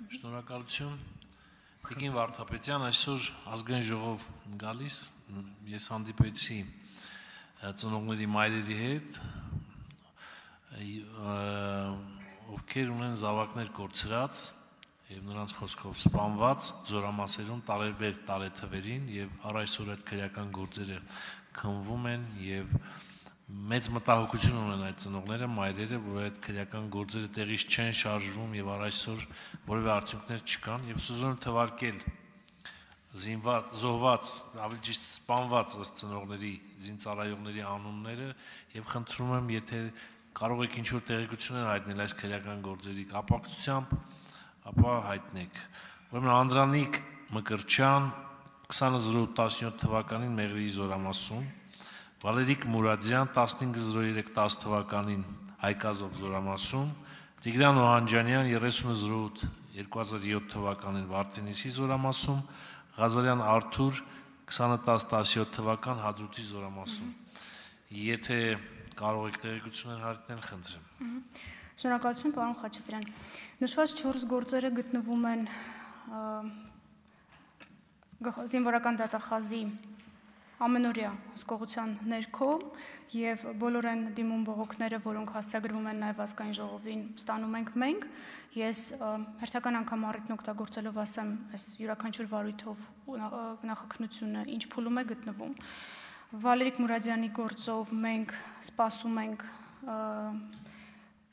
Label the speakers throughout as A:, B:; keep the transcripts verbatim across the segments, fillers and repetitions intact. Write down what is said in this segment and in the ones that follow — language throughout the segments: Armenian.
A: Շնորհակալություն։ Տիկին Վարդապետյան, այսօր ազգային ժողով գալիս, ես հանդիպեցի ծնողների մայրերի հետ, ովքեր ունեն զավակներ կորցրած եւ նրանց խոսքով սպանված զորամասերում տարեբեր տարեթվերին եւ առ այսօր այդ քրեական գործերը քննվում են եւ մեծ մտահոգություն ունեն այդ ծնողները, մայրերը, որ այդ քրեական գործերը տեղից չեն շարժվում եւ առ այսօր որևէ արդյունքներ չկան եւ ուզում եմ թվարկել զինված, զոհված, ավելի ճիշտ սպանված ըստ ծնողների զինծառայողների անունները եւ խնդրում եմ, եթե կարող եք ինչ-որ տեղեկություններ հայտնել այս քրեական գործերի կապակցությամբ, ապա հայտնեք։ Ուրեմն Անդրանիկ Մկրտչյան քսանը զրո տասնյոթ թվականին Մեղրիի զորամասում, Վալերիկ Մուրադյան տասնհինգ զրո երեք տասը թվականին Հայկազով զորամասում, Տիգրան Օհանջանյան երեսուն զրո ութ երկու հազար յոթ թվականին Վարդենիսի զորամասում, Ղազարյան Արթուր քսանը տասը տասնյոթ թվական Հադրութի զորամասում։ Եթե կարող եք տեղեկություններ հայտնել, խնդրեմ։
B: Շնորհակալություն, պարոն Խաչատրյան։ Նշված չորս գործերը գտնվում են զինվորական դատախազի ամենօրյա հսկողության ներքո եւ բոլոր այն դիմում բողոքները, որոնք հասցեագրվում են նաեւ ազգային ժողովին, ստանում ենք մենք։ Ես հերթական անգամ առիթն օգտագործելով ասեմ, այս յուրաքանչյուր վարույթով նախաքննությունը ինչ փուլում է գտնվում։ Վալերիկ Մուրադյանի գործով մենք սպասում ենք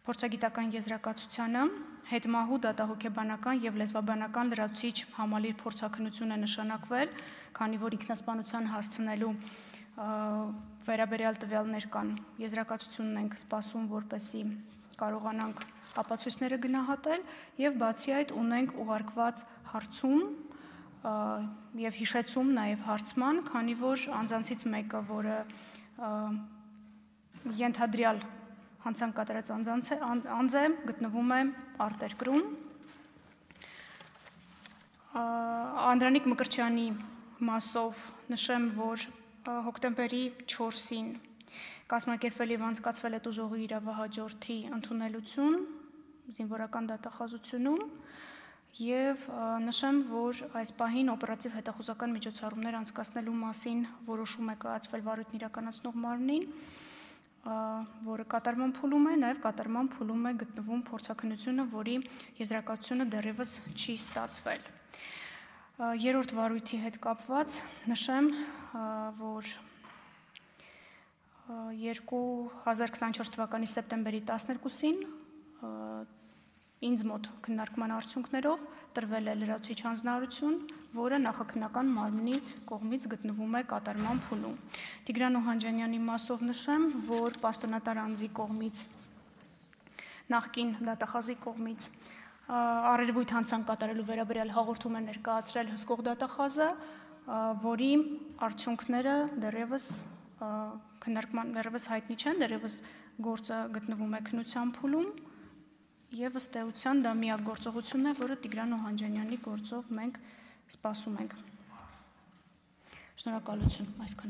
B: փորձագիտական եզրակացությանը, հետմահու դատահոգեբանական եւ լեզվաբանական լրացուցիչ համալիր փորձաքննություն է նշանակվել, քանի որ ինքնասպանության հասցնելու վերաբերյալ տվյալներ կան, եզրակացությունն ենք սպասում, որպեսզի կարողանանք ապացույցները գնահատել եւ բացի այդ ունենք ուղարկված հարցում եւ հիշեցում նաեւ հարցման, քանի որ անձանցից մեկը, որը ենթադրյալ հանցանք կատարած անձ է, գտնվում է արտերկրում։ Անդրանիկ Մկրտչյանի մասով նշեմ, որ հոկտեմբերի չորսին կազմակերպվել եւ անցկացվել է տուժողի իրավահաջորդի ընդունելություն զինվորական դատախազությունում եւ նշեմ, որ այս պահին օպերատիվ հետախուզական միջոցառումներ անցկացնելու մասին որոշում է կայացվել վարույթն իրականացնող մարմնին, որը կատարման փուլում է, նաեւ կատարման փուլում է գտնվում փորձաքննությունը, որի եզրակացությունը դեռևս չի ստացվել։ Երրորդ վարույթի հետ կապված նշեմ, որ երկու հազար քսաներկու թվականի սեպտեմբերի տասներկուսին ինձ մոտ քննարկման արդյունքներով տրվել է լրացուցիչ հանձնարարություն, որը նախաքննական մարմնի կողմից գտնվում է կատարման փուլում։ Տիգրան Օհանջանյանի մասով նշեմ, որ պաշտոնատար անձի կողմից նախկին դատախազի կողմից առերևույթ հանցանք կատարելու վերաբերյալ հաղորդում է ներկայացրել հսկող դատախազը, որի արդյունքները դեռևս քննարկման դեռևս հայտնի չեն, դեռևս գործը գտնվում է քննության փուլում եւ ըստ էության դա միակ գործողությունն է, որը Տիգրան Օհանջանյանի գործով մենք սպասում ենք։ Շնորհակալություն այսքան